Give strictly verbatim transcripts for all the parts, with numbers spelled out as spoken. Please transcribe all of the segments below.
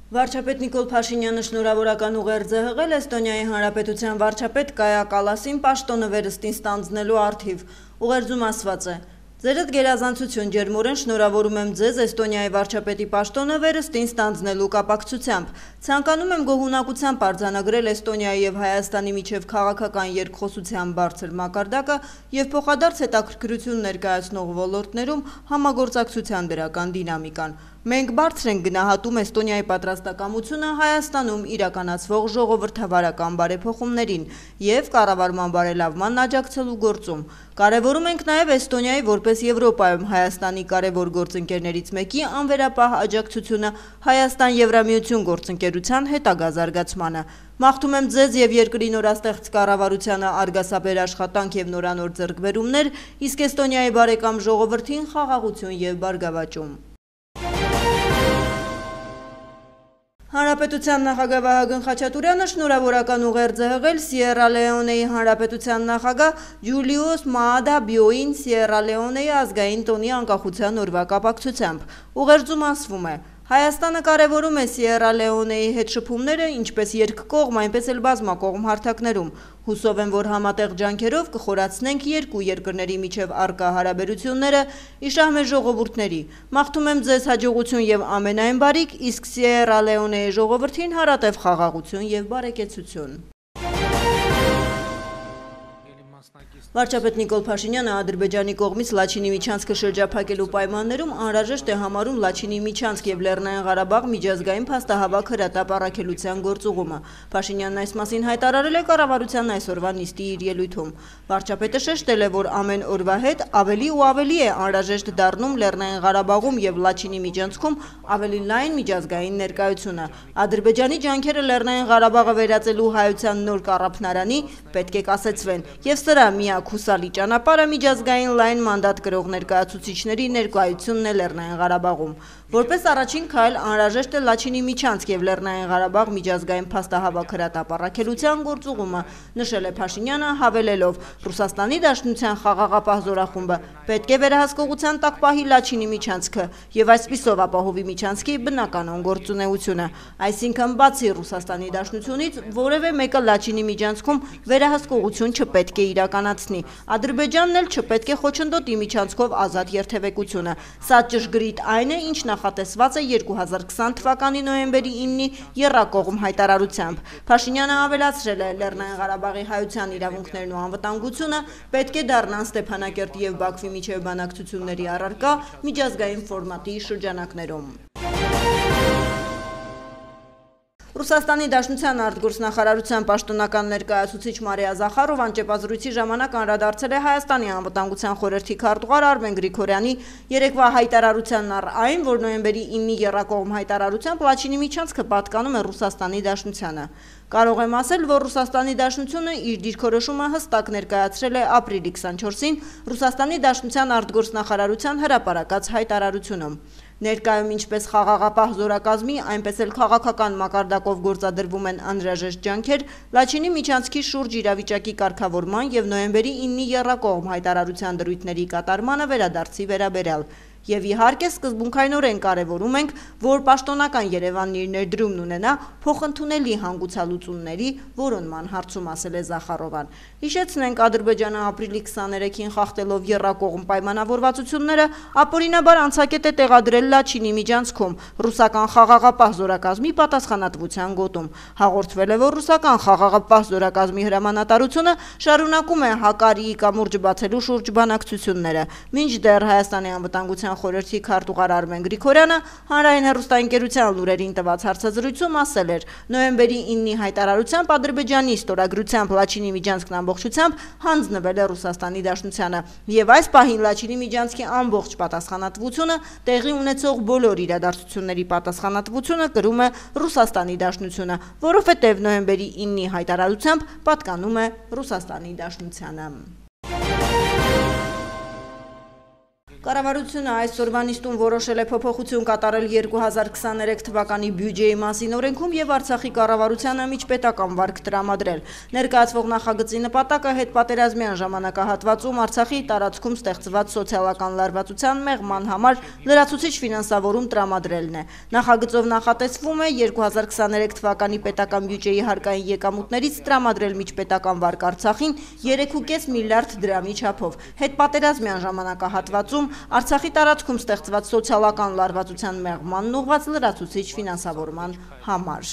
Վարչապետ Նիկոլ Փաշինյանը շնորհավորական ուղերձ է հղել Էստոնիայի Հանրապետության վարչապետ Կայա Կալասին պաշտոնը վերստին ստանձնելու առթիվ։ Ուղերձում ասված է. «Ձերդ գերազանցություն, ջերմորեն շնորհավորում եմ ձեզ Էստոնիայի վարչապետի պաշտոնը վերստին ստանձնելու կապակցությամբ։ Ցանկանում եմ գոհունակությամբ արձանագրել Էստոնիայի եւ Հայաստանի միջև քաղաքական երկխոսության բարձր մակարդակը եւ փոխադարձ հետաքրքրություն ներկայացնող ոլորտներում համագործակցության դրական դինամիկան։ Մենք բարձր ենք գնահատում Էստոնիայի պատրաստակամությունը Հայաստանում իրականացվող ժողովրդավարական բարեփոխումներին եւ կառավարման բարելավման աջակցելու գործում։ Կարևորում ենք նաեւ Էստոնիայի որպես Եվրոպայում Հայաստանի կարևոր գործընկերներից մեկի անվերապահ աջակցությունը Հայաստան-Եվրամիություն գործընկերության հետագա զարգացմանը։ Մաղթում եմ ձեզ եւ երկրի նորաստեղծ կառավարությանը արգասաբեր աշխատանք եւ նորանոր ձեռքբերումներ, իսկ Էստոնիայի բարեկամ ժողովրդին խաղաղություն եւ բարգավաճում»։ Հանրապետության նախագահ Վահագն Խաչատուրյանը շնորհավորական ուղերձ է հղել Սիերա Լեոնեի Հանրապետության նախագահ Ջուլիուս Մաադա Բիոին Սիերա Լեոնեի ազգային տոնի անկախության օրվա կապակցությամբ։ Ուղերձում ասվում է. «Հայաստանը կարևորում է Սիերա Լեոնեի հետ շփումները ինչպես երկկողմ, այնպես էլ բազմակողմ հարթակներում։ Հուսով եմ, որ համատեղ ջանքերով կխորացնենք երկու երկրների միջև առկա հարաբերությունները, իշահ մեր ժողովուրդների։ Մաղթում եմ ձեզ հաջողություն եւ ամենայն բարիք, իսկ Սիերա Լեոնեի ժողովրդին հարատև խաղաղություն եւ բարեկեցություն»։ Վարչապետ Նիկոլ Փաշինյանը Ադրբեջանի կողմից Լաչինի Միչանսկը շրջափակելու պայմաններում անհրաժեշտ է համարում Լաչինի Միչանսկ եւ Լեռնային Ղարաբաղ միջազգային փաստահավաք հրատապ առաքելության գործուղումը։ Փաշինյանն այս մասին հայտարարել է կառավարության այսօրվա նիստի իր ելույթում։ Վարչապետը շեշտել է, որ ամեն օրվա հետ ավելի ու ավելի է անհրաժեշտ դառնում Լեռնային Ղարաբաղում եւ Լաչինի Միչանսկում ավելի լայն միջազգային ներկայությունը։ Ադրբեջանի ջանքերը Լեռնային Ղարաբաղը վերածելու հայության նոր կառափնարանի պետք է կասեցվեն եւ սրա միակ հուսալի ճանապարհը միջազգային լայն մանդատ կրող ներկայացուցիչների ներկայությունն է Լեռնային Ղարաբաղում։ Որպես առաջին քայլ անհրաժեշտ է Լաչինի Միչանսկ եւ Լեռնային Ղարաբաղ միջազգային փաստահավաք հրատապ առաքելության գործուղումը, նշել է Փաշինյանը, հավելելով. «Ռուսաստանի Դաշնության խաղաղապահ զորախումբը պետք է վերահսկողության տակ պահի Լաչինի Միչանսկը եւ այսպիսով ապահովի Միչանսկի բնականon գործունեությունը։ Այսինքն, բացի Ռուսաստանի Դաշնությունից որևէ մեկը Լաչինի Միչանսկում վերահսկողություն չպետք է իրականացնի։ Ադրբեջանն էլ չպետք է խոչընդոտի Միչանսկով ազատ երթևեկությունը։ Սա ճշգրիտ այն է, ինչ նախատեսված է երկու հազար քսան թվականի նոյեմբերի իննի եռակողմ հայտարարությամբ։ Փաշինյանը ավելացրել է. «Լեռնային Ղարաբաղի հայության իրավունքներն ու անվտանգությունը պետք է դառնան Ստեփանակերտի եւ Բաքվի միջև բանակցությունների առարկա միջազգային ֆորմատի շրջանակներում»։ Ռուսաստանի Դաշնության արտգործնախարարության պաշտոնական ներկայացուցիչ Մարիա Զախարովան ճեպազրույցի ժամանակ անդրադարձել է Հայաստանի անվտանգության խորհրդի քարտուղար Արմեն Գրիգորյանի երեկվա հայտարարությանն առ այն, որ նոյեմբերի իննի եռակողմ հայտարարությամբ Լաչինի Միչանսկը պատկանում է Ռուսաստանի Դաշնությանը։ Կարող եմ ասել, որ Ռուսաստանի Դաշնությունը իր դիրքորոշումը հստակ ներկայացրել է ապրիլի քսանչորսին Ռուսաստանի Դաշնության արտգործնախարարության հրապարակած հայտարարությունում։ Ներկայում ինչպես խաղաղապահ զորակազմի, այնպես էլ քաղաքական մակարդակով գործադրվում են անհրաժեշտ ջանքեր Լաչինի Միչանսկի շուրջ իրավիճակի կարգավորման եւ նոյեմբերի իննի եռակողմ հայտարարության դրույթների կատարմանը վերադարձի վերաբերյալ։ Եվ իհարկե սկզբունքայնորեն կարևորում ենք, որ պաշտոնական Երևանն իր ներդրումն ունենա փոխընդունելի հանգուցալուծումների որոնման հարցում, ասել է Զախարովան։ Հիշեցնենք, Ադրբեջանը ապրիլի քսաներեքին խախտելով եռակողմ պայմանավորվածությունները ապօրինաբար անցակետ է տեղադրել Լաչինի Միչանսկում ռուսական խաղաղապահ զորակազմի պատասխանատվության գոտում։ Հաղորդվել է, որ ռուսական խաղաղապահ զորակազմի հրամանատարությունը շարունակում է Հակարիի կամուրջը բացելու շուրջ բանակցությունները։ Մինչդեռ Հայաստանի անվտանգության խորհրդի քարտուղար Արմեն Գրիգորյանը հանրային հեռուստաընկերության լուրերին տված հարցազրույցում ասել էր. «Նոյեմբերի իննի հայտարարությամբ Ադրբեջանի ստորագրությամբ Լաչինի Միչանսկն ամբողջությամբ հանձնվել է Ռուսաստանի Դաշնությանը եւ այս պահին Լաչինի Միչանսկի ամբողջ պատասխանատվությունը տեղի ունեցող բոլոր իրադարձությունների պատասխանատվությունը կրում է Ռուսաստանի Դաշնությունը, որովհետեւ նոյեմբերի իննի հայտարարությամբ պատկանում է Ռուսաստանի Դաշնությանը»։ Կառավարությունը այսօրվա նիստում որոշել է փոփոխություն կատարել երկու հազար քսաներեք թվականի բյուջեի մասին օրենքում եւ Արցախի կառավարությանը միջպետական վարկ տրամադրել։ Ներկայացվող նախագծի նպատակը հետպատերազմյան ժամանակահատվածում Արցախի տարածքում ստեղծված սոցիալական լարվածության մեղման համար լրացուցիչ ֆինանսավորում տրամադրելն է։ Նախագծով նախատեսվում է երկու հազար քսաներեք թվականի պետական բյուջեի հարկային եկամուտներից տրամադրել միջպետական վարկ Արցախին երեք կόμμα պենս միլիարդ դրամի չափով։ Հետպատերազմյան ժամանակահատվածում Արցախի տարածքում ստեղծված սոցիալական լարվածության մեղմանն ուղղված լրացուցիչ ֆինանսավորման համար։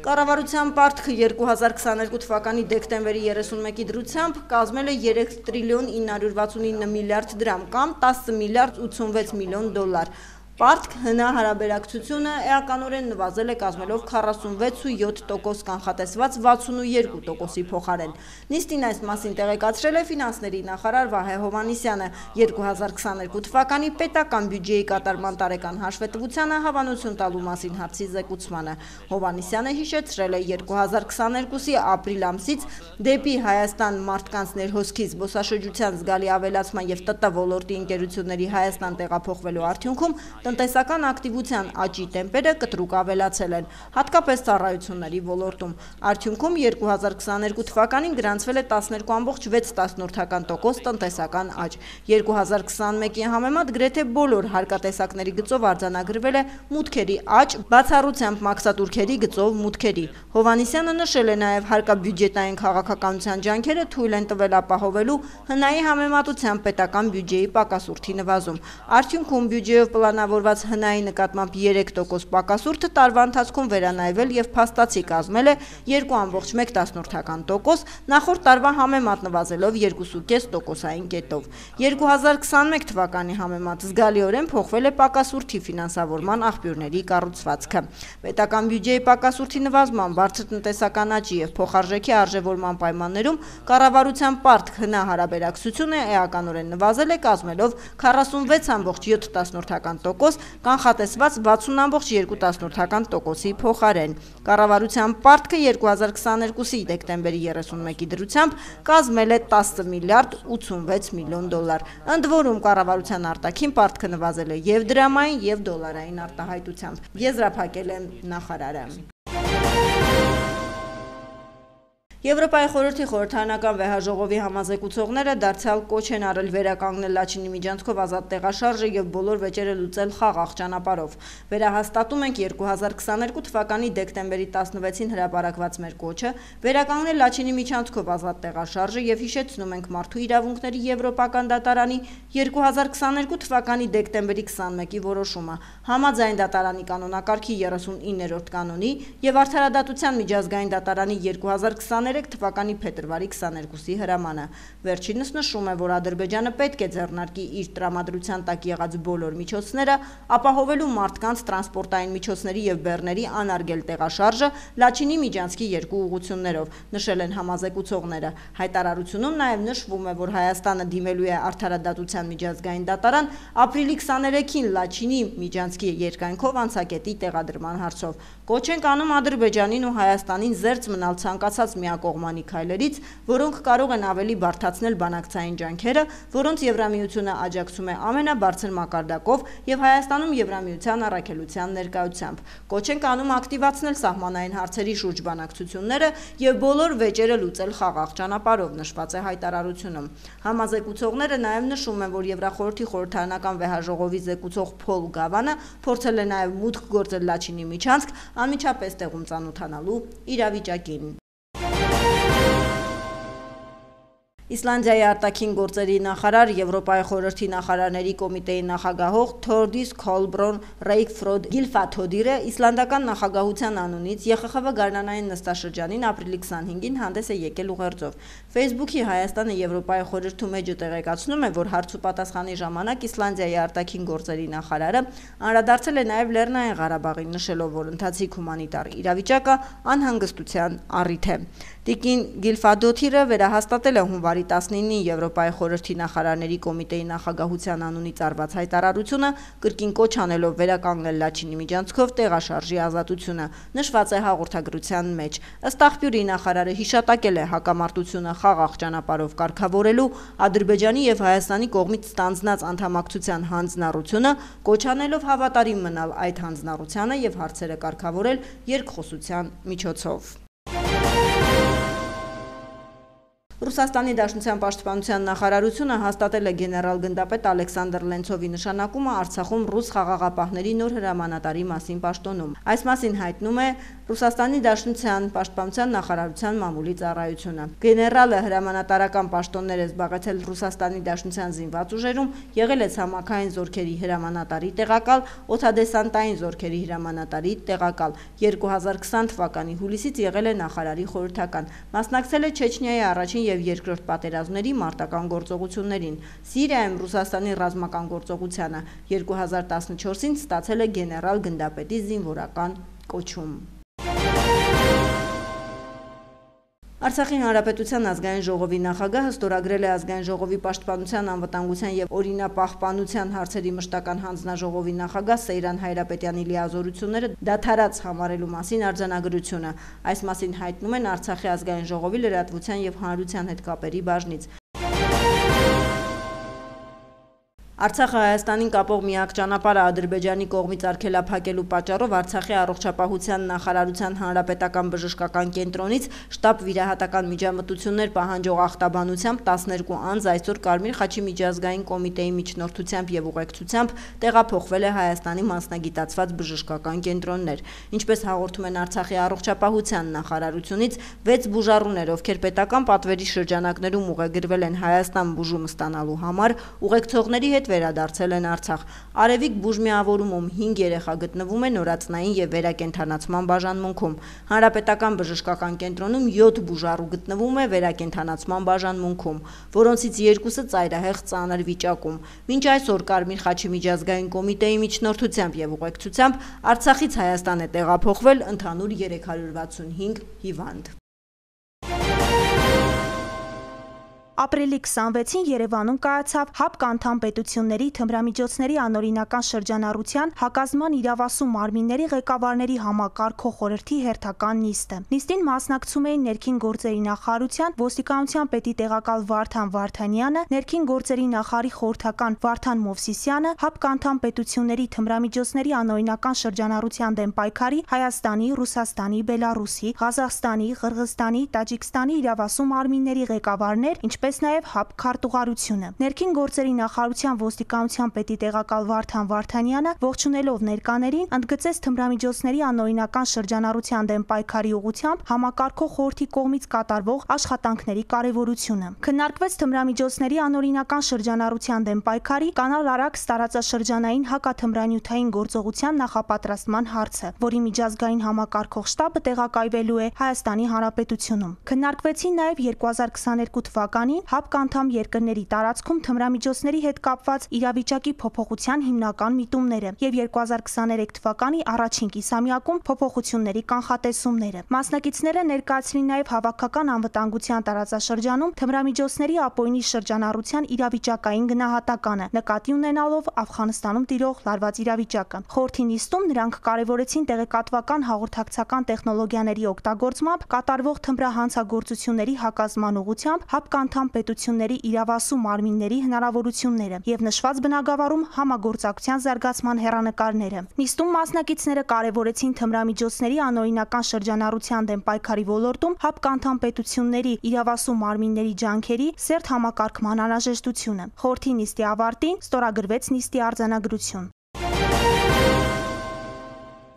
Կառավարության պարտքը երկու հազար քսաներկու թվականի դեկտեմբերի երեսունմեկի դրությամբ կազմել է երեք տրիլիոն ինը հարյուր վաթսունինը միլիարդ դրամ կամ տասը միլիարդ ութսունվեց միլիոն դոլար։ Պարտք հնա հարաբերակցությունը էականորեն նվազել է կազմելով քառասունվեց կόμμα յոթ տոկոս կանխատեսված վաթսունուերկու տոկոսի փոխարեն։ Նիստին այս մասին տեղեկացրել է ֆինանսների նախարար Վահե Հովհաննիսյանը երկու հազար քսաներկու թվականի պետական բյուջեի կատարման տարեկան հաշվետվությանը հավանություն տալու մասին հարցի զեկուցմանը։ Հովհաննիսյանը հիշեցրել է երկու հազար քսաներկուսի ապրիլ ամսից դեպի Հայաստան մարդկանց ներհոսքի զբոսաշրջության զգալի ավելացման եւ ՏՏ ոլորտի ընկերությունների Հայաստան տեղափոխվելու արդյունքում տնտեսական ակտիվության աճի տեմպերը կտրուկ ավելացել են, հատկապես ծառայությունների ոլորտում։ Արդյունքում երկու հազար քսաներկու թվականին գրանցվել է տասներկու կόμμα վեց տոկոս տնտեսական աճ։ երկու հազար քսանմեկի համեմատ գրեթե բոլոր հարկատեսակների գծով արձանագրվել է մուտքերի աճ, բացառությամբ մաքսատուրքերի գծով մուտքերի։ Հովհաննիսյանը նշել է նաև հարկաբյուջետային քաղաքականության ջանքերը թույլ են տվել ապահովելու հնայի համեմատությամբ պետական բյուջեի պակասուրդի նվազում։ Արդյունքում բյուջեով պլանավորված հնայի նկատմամբ երեք տոկոս պակասուրդը տարվա ընթացքում վերանայվել եւ փաստացի կազմել է երկու կόμμα մեկ տոկոս, նախորդ տարվա համեմատ նվազելով երկու կόμμα պենս տոկոսային կետով։ երկու հազար քսանմեկ թվականի համեմատ զգալիորեն փոխվել է պակասուրդի ֆինանսավորման աղբյուրների կառուցվածքը։ Պետական բյուջեի պակասուրդի նվազման, բարձր տնտեսական աճի եւ փոխարժեքի արժեվորման պայմաններում կառավարության պարտք հնա հարաբերակցությունը էականորեն նվազել է կազմելով քառասունվեց կόμμα յոթ տոկոս, կանխատեսված վաթսուն կόμμα երկու տոկոսի փոխարեն։ Կառավարության պարտքը երկու հազար քսաներկուսի դեկտեմբերի երեսունմեկի դրությամբ կազմել է տասը միլիարդ ութսունվեց միլիոն դոլար։ Ընդ որում կառավարության արտաքին պարտքը նվազել է եւ դրամային եւ դոլարային արտահայտությամբ, եզրափակել է նախարարը։ Եվրոպայի խորհրդի խորհրդարանական վեհաժողովի համազեկուցողները դարձյալ կոչ են արել վերականգնել Լաչինի միջանցքով ազատ տեղաշարժը եւ բոլոր վեճերը լուծել խաղաղ ճանապարհով։ Վերահաստատում ենք երկու հազար քսաներկու թվականի դեկտեմբերի տասնվեցին հրապարակված մեր կոչը վերականգնել Լաչինի միջանցքով ազատ տեղաշարժը եւ հիշեցնում ենք Մարդու իրավունքների եվրոպական դատարանի երկու հազար քսաներկու թվականի դեկտեմբերի քսանմեկի որոշումը։ Համաձայն դատարանի կանոնակարգի երեսունիններորդ կանոնի եւ Արդարադատության միջազգային դատարանի երկու հազար քսաներեք թվականի փետրվարի քսաներկուսի հրամանը։ Վերջինս նշում է, որ Ադրբեջանը պետք է ձեռնարկի իր տրամադրության տակ եղած բոլոր միջոցները, ապահովելու մարդկանց տրանսպորտային միջոցների եւ բեռների անարգել տեղաշարժը Լաչինի միջանցքի երկու ուղղություններով, նշել են համազեկուցողները։ Հայտարարությունում նաեւ նշվում է, որ Հայաստանը դիմելու է Արդարադատության միջազգային դատարան ապրիլի քսաներեքին Լաչինի միջանցքի երկայնքով անցակետի տեղադրման հարցով։ Կոչ ենք անում Ադրբեջանին ու Հայաստանին զերծ մնալ ցանկացած միակողմանի քայլերից, որոնք կարող են ավելի բարդացնել բանակցային ջանքերը, որոնց Եվրամիությունը աջակցում է ամենաբարձր մակարդակով եւ Հայաստանում Եվրամիության առաքելության ներկայությամբ։ Կոչ ենք անում ակտիվացնել սահմանային հարցերի շուրջ բանակցությունները եւ բոլոր վեճերը լուծել խաղաղ ճանապարհով, նշված է հայտարարությունում։ Համազեկուցողները նաեւ նշում են, որ Եվրախորհրդի խորհրդարանական վեհաժողովի զեկուցող Փոլ Գավանը փորձել է նաեւ մուտք գործել Լաչինի միջանցք անմիջապես տեղում ծանոթանալու իրավիճակին։ Իսլանդիայի արտաքին գործերի նախարար, Եվրոպայի խորհրդի նախարարների կոմիտեի նախագահող Թորդիս Քոլբրոն Ռեյքֆրոդ Գիլֆաթոդիրը իսլանդական նախագահության անունից Ե Խ Խ V գարնանային նստաշրջանին ապրիլի քսանհինգին հանդես է եկել ուղերձով։ Facebook-ի Հայաստանը Եվրոպայի խորհրդում էջը տեղեկացնում է, որ հարց ու պատասխանի ժամանակ Իսլանդիայի արտաքին գործերի նախարարը անդրադարձել է նաև Լեռնային Ղարաբաղին, նշելով, որ ընթացիկ հումանիտար իրավիճակը անհանգստության առիթ է։ Տիկին Գիլֆադոթիրը վերահաստատել է հունվարի տասնինին Եվրոպայի խորհրդի նախարարների կոմիտեի նախագահության անունից արված հայտարարությունը, կրկին կոչ անելով վերականգնել Լաչինի միջանցքով տեղաշարժի ազատությունը, նշված է հաղորդագրության մեջ։ Ըստ աղբյուրի նախարարը հիշատակել է հակամարտությունը խաղաղ ճանապարհով կարգավորելու Ադրբեջանի եւ Հայաստանի կողմից ստանձնած անդամակցության հանձնառությունը, կոչ անելով հավատարիմ մնալ այդ հանձնառությանը եւ հարցերը կարգավորել երկխոսության միջոցով։ Ռուսաստանի Դաշնության պաշտպանության նախարարությունը հաստատել է գեներալ-գնդապետ Ալեքսանդր Լենցովի նշանակումը Արցախում ռուս խաղաղապահների նոր հրամանատարի մասին պաշտոնում։ Այս մասին հայտնում է Ռուսաստանի Դաշնության պաշտպանության նախարարության մամուլի ծառայությունը։ Գեներալը հրամանատարական պաշտոններ է զբաղեցել Ռուսաստանի Դաշնության զինված ուժերում, եղել է ցամաքային զորքերի հրամանատարի տեղակալ, օդադեսանտային զորքերի հրամանատարի տեղակալ։ երկու հազար քսան թվականի հուլիսից եղել է նախարարի խորհրդական։ Մասնակցել է Չեչնիայի առաջին և երկրորդ պատերազմների մարտական գործողություններին, Սիրիայում Ռուսաստանի ռազմական գործողությանը, երկու հազար տասնչորսին ստացել է գեներալ-գնդապետի զինվորական կոչում։ Արցախի Հանրապետության ազգային ժողովի նախագահը ստորագրել է ազգային ժողովի պաշտպանության, անվտանգության և օրինապահպանության հարցերի մշտական հանձնաժողովի նախագահ Սեյրան Հայրապետյանի լիազորությունները դադարած համարելու մասին արձանագրությունը։ Այս մասին հայտնում են Արցախի ազգային ժողովի լրատվության և հանրության հետ կապերի բաժնից։ Արցախը Հայաստանին կապող միակ ճանապարհը Ադրբեջանի կողմից արգելափակելու պատճառով Արցախի առողջապահության նախարարության հանրապետական բժշկական կենտրոնից շտաբ վիրահատական միջամտություններ պահանջող ախտաբանությամբ տասներկու անձ այսօր Կարմիր խաչի միջազգային կոմիտեի միջնորդությամբ եւ ուղեկցությամբ տեղափոխվել է Հայաստանի մասնագիտացված բժշկական կենտրոններ։ Ինչպես հաղորդում են Արցախի առողջապահության նախարարությունից, վեց բուժառուներ, ովքեր պետական պատվերի շրջանակներում ուղեգրվել են Հայաստան բուժում ստանալու համար, ուղեկցողների հետ վերադարձել են Արցախ։ Արևիկ բուժմիավորումում հինգ երեխա գտնվում է նորածնային եւ վերակենդանացման բաժանմունքում։ Հանրապետական բժշկական կենտրոնում յոթ բուժառու գտնվում է վերակենդանացման բաժանմունքում, որոնցից երկուսը ծայրահեղ ծանր վիճակում։ Մինչ այսօր Կարմիր խաչի միջազգային կոմիտեի միջնորդությամբ եւ ուղեկցությամբ Արցախից Հայաստան է տեղափոխվել ընդհանուր երեք հարյուր վաթսունհինգ հիվանդ։ Ապրիլի քսանվեցին Երևանում կայացավ ՀԱՊԿ անդամ պետությունների թմրամիջոցների անօրինական շրջանառության հակազման իրավասու մարմինների ղեկավարների համակարգող խորհրդի հերթական նիստը։ Նիստին մասնակցում էին ներքին գործերի նախարարության ոստիկանության պետի տեղակալ Վարդան Վարդանյանը, ներքին գործերի նախարարի խորհրդական Վարդան Մովսիսյանը, ՀԱՊԿ անդամ պետությունների թմրամիջոցների անօրինական շրջանառության դեմ պայքարի Հայաստանի, Ռուսաստանի, Բելարուսի, Ղազախստանի, Ղրղզստանի, Տաջիկստանի իրավասու մարմինների ղեկավարներ, ինչպես նաև ՀԱՊԿ քարտուղարությունը։ Ներքին գործերի նախարարության ոստիկանության պետի տեղակալ Վարդան Վարդանյանը ողջունելով ներկաներին ընդգծեց թմրամիջոցների անօրինական շրջանառության դեմ պայքարի ուղղությամբ համակարգող խորհրդի կողմից կատարվող աշխատանքների կարևորությունը։ Քննարկվեց թմրամիջոցների անօրինական շրջանառության դեմ պայքարի կանալ արաքս տարածաշրջանային հակաթմրանյութային գործողության նախապատրաստման հարցը, որի միջազգային համակարգող շտաբը տեղակայվելու է Հայաստանի Հանրապետությունում։ Քննարկվեցին նաև երկու հազար քսաներկու թվականին ՀԱՊԿ անդամ երկրների տարածքում թմրամիջոցների հետ կապված իրավիճակի փոփոխության հիմնական միտումները եւ երկու հազար քսաներեք թվականի առաջին կիսամյակում փոփոխությունների կանխատեսումները։ Մասնակիցները ներկայացրին նաև հավաքական անվտանգության տարածաշրջանում թմրամիջոցների ապօրինի շրջանառության իրավիճակային գնահատականը, նկատի ունենալով Աֆղանստանում տիրող լարված իրավիճակը։ Խորհրդի նիստում նրանք կարևորեցին տեղեկատվական հաղորդակցական տեխնոլոգիաների օգտագործմամբ կատարվող թմրահանցագործությունների հակազման ուղղությամբ ՀԱՊԿ անդամ պետությունների իրավասու մարմինների հնարավորությունները եւ նշված բնագավառում համագործակցության զարգացման հեռանկարները։ Նիստում մասնակիցները կարևորեցին թմրամիջոցների անօրինական շրջանառության դեմ պայքարի ոլորտում ՀԱՊԿ անդամ պետությունների իրավասու մարմինների ջանքերի սերտ համակարգման անհրաժեշտությունը։ Խորհրդի նիստի ավարտին ստորագրվեց նիստի արձանագրություն։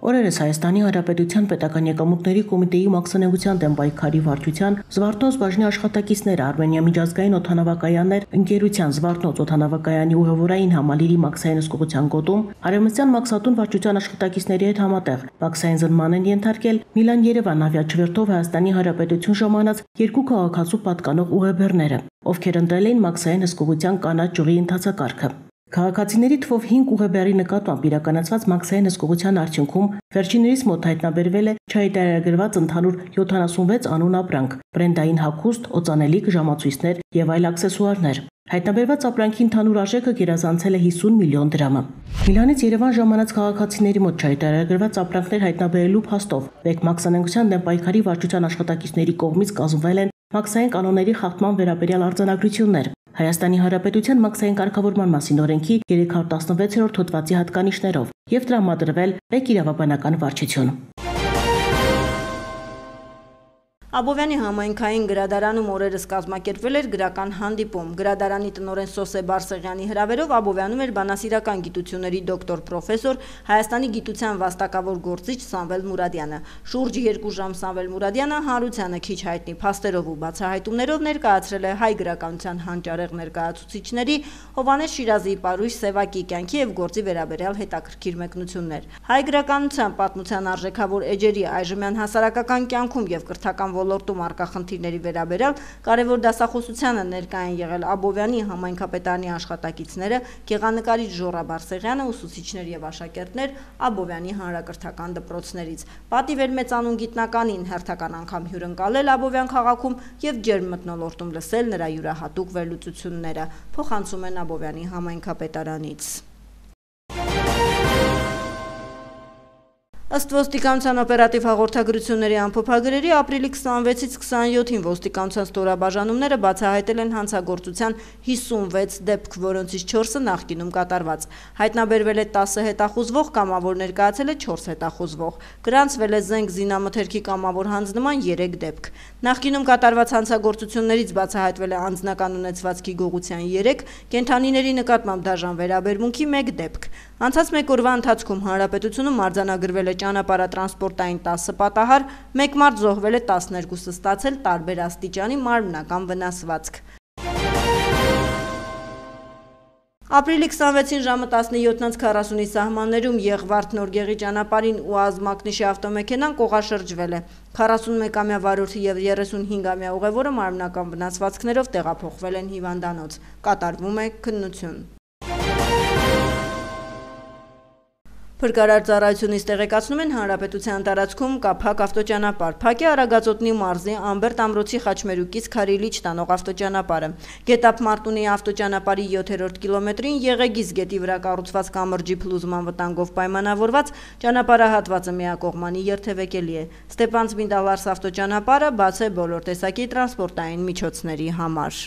Օրերս Հայաստանի Հանրապետության պետական եկամուտների կոմիտեի մաքսանենգության դեմ պայքարի վարչության Զվարթնոց բաժնի աշխատակիցները Արմենիա միջազգային օդանավակայաններ ընկերության Զվարթնոց օդանավակայանի ուղևորային համալիրի մաքսային հսկողության գոտում Արևմտյան մաքսատուն վարչության աշխատակիցների հետ համատեղ մաքսային զնման են ենթարկել Միլան-Երևան ավիաչվերթով Հայաստանի Հանրապետություն ժամանած երկու քաղաքացու պատկանող ուղեբեռները, ովքեր ընտրել էին մաքսային հսկողության կանաչ ճյուղի ընթացակարգը։ Քաղաքացիների թվով հինգ ուղեբեռի նկատմամբ իրականացված մաքսային հսկողության արդյունքում վերջիններիս մոտ հայտնաբերվել է չհայտարարագրված ընդհանուր յոթանասունվեց անուն ապրանք, բրենդային հագուստ, օծանելիք, ժամացույցներ եւ այլ աքսեսուարներ։ Հայտնաբերված ապրանքի ընդհանուր արժեքը գերազանցել է հիսուն միլիոն դրամը։ Միլանից Երևան ժամանած քաղաքացիների մոտ չհայտարարագրված ապրանքներ հայտնաբերելու փաստով մեկ մաքսանենգության դեմ պայքարի վարչության աշխատակիցների կողմից կազմվել են մաքսային կանոնների խախտման վերաբերյալ արձանագրություններ։ Հայաստանի Հանրապետության մաքսային կարգավորման մասին օրենքի երեք հարյուր տասնվեցերորդ հոդվածի հատկանիշներով եւ տրամադրվել մեկ իրավաբանական վարչություն։ Աբովյանի համայնքային գրադարանում օրերս կազմակերպվել էր գրական հանդիպում։ Գրադարանի տնօրեն Սոսե Բարսեղյանի հրավերով Աբովյանում էր բանասիրական գիտությունների դոկտոր պրոֆեսոր Հայաստանի գիտության վաստակավոր գործիչ Սամվել Մուրադյանը։ Շուրջ երկու ժամ Սամվել Մուրադյանը հանրությանը քիչ հայտնի փաստերով ու բացահայտումներով ներկայացրել է հայ գրականության հանճարեղ ներկայացուցիչների Հովհաննես Շիրազիի Պարույր Սևակի կյանքի եւ գործի վերաբերյալ հետաքրքիր մեկնություններ։ Հայ գրականության պատմության արժեքավոր էջերի այժմյան հասարակական կյանքում եւ կրթական ոլորտում առկա խնդիրների վերաբերյալ կարևոր դասախոսությանը ներկա են եղել Աբովյանի համայնքապետարանի աշխատակիցները, գեղանկարիչ Ժոռա Բարսեղյանը, ուսուցիչներ եւ աշակերտներ Աբովյանի հանրակրթական դպրոցներից։ Պատիվ էր մեծանուն գիտնականին հերթական անգամ հյուրընկալել Աբովյան քաղաքում եւ ջերմ մթնոլորտում լսել նրա յուրահատուկ վերլուծությունները, փոխանցում են Աբովյանի համայնքապետարանից։ Ըստ ոստիկանության օպերատիվ հաղորդագրությունների ամփոփագրերի ապրիլի քսանվեցից քսանյոթին ոստիկանության ստորաբաժանումները բացահայտել են հանցագործության հիսունվեց դեպք, որոնցից չորսը նախկինում կատարված։ Հայտնաբերվել է տասը հետախուզվող, կամավոր ներկայացել է չորս հետախուզվող։ Գրանցվել է զենք զինամթերքի կամավոր հանձնման երեք դեպք։ Նախկինում կատարված հանցագործություններից բացահայտվել է անձնական ունեցվածքի գողության երեք, կենդանիների նկատմամբ դաժան վերաբերմունքի մեկ դեպք։ Անցած մեկ օրվա ընթացքում հանրապետությունում արձանագրվել է ճանապարհատրանսպորտային տասը պատահար, մեկ մարդ զոհվել է, տասներկուսը ստացել տարբեր աստիճանի մարմնական վնասվածք։ Ապրիլի քսանվեցին ժամը տասնյոթ քառասունի սահմաններում Եղվարդ Նորգեղի ճանապարհին ՈՒԱԶ մակնիշի ավտոմեքենան կողաշրջվել է։ քառասունմեկամյա վարորդը եւ երեսունհինգամյա ուղևորը մարմնական վնասվածքներով տեղափոխվել են հիվանդանոց։ Կատարվում է քննություն։ Փրկարար ծառայությունից տեղեկացնում են հանրապետության տարածքում կա փակ ավտոճանապարհ։ Փակ է Արագածոտնի մարզի Ամբերտ Ամրոցի Խաչմերուկից Քարիլիչ տանող ավտոճանապարհը։ Գետափ Մարտունի ավտոճանապարհի յոթերորդ կիլոմետրին Եղեգիզ գետի վրա կառուցված կամրջի փլուզման վտանգով պայմանավորված ճանապարհահատվածը միակողմանի երթևեկելի է։ Ստեփանցմինդ-Ալարս ավտոճանապարհը բաց է բոլոր տեսակի տրանսպորտային միջոցների համար։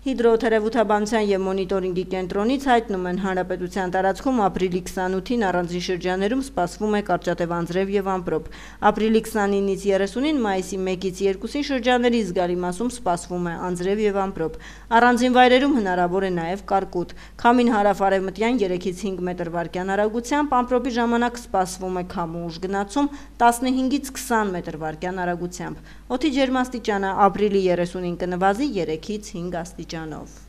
Հիդրոթերապևտաբանության եւ մոնիտորինգի կենտրոնից հայտնում են հանրապետության տարածքում ապրիլի քսանութին առանձին շրջաններում սպասվում է կարճատև անձրև եւ ամպրոպ։ Ապրիլի քսանինից երեսունին, մայիսի մեկից երկուսին շրջանների զգալի մասում սպասվում է անձրև եւ ամպրոպ։ Առանձին վայրերում հնարավոր է նաեւ կարկուտ։ Քամին հարավարևմտյան երեքից հինգ մետր վարկյան արագությամբ, ամպրոպի ժամանակ սպասվում է քամու ուժ գնացում տասնհինգից քսան մետր վարկյան արագությամբ։ Օդի ջերմաստիճանը ապրիլի երեսունին կնվազի երեքից հինգ աստիճանով։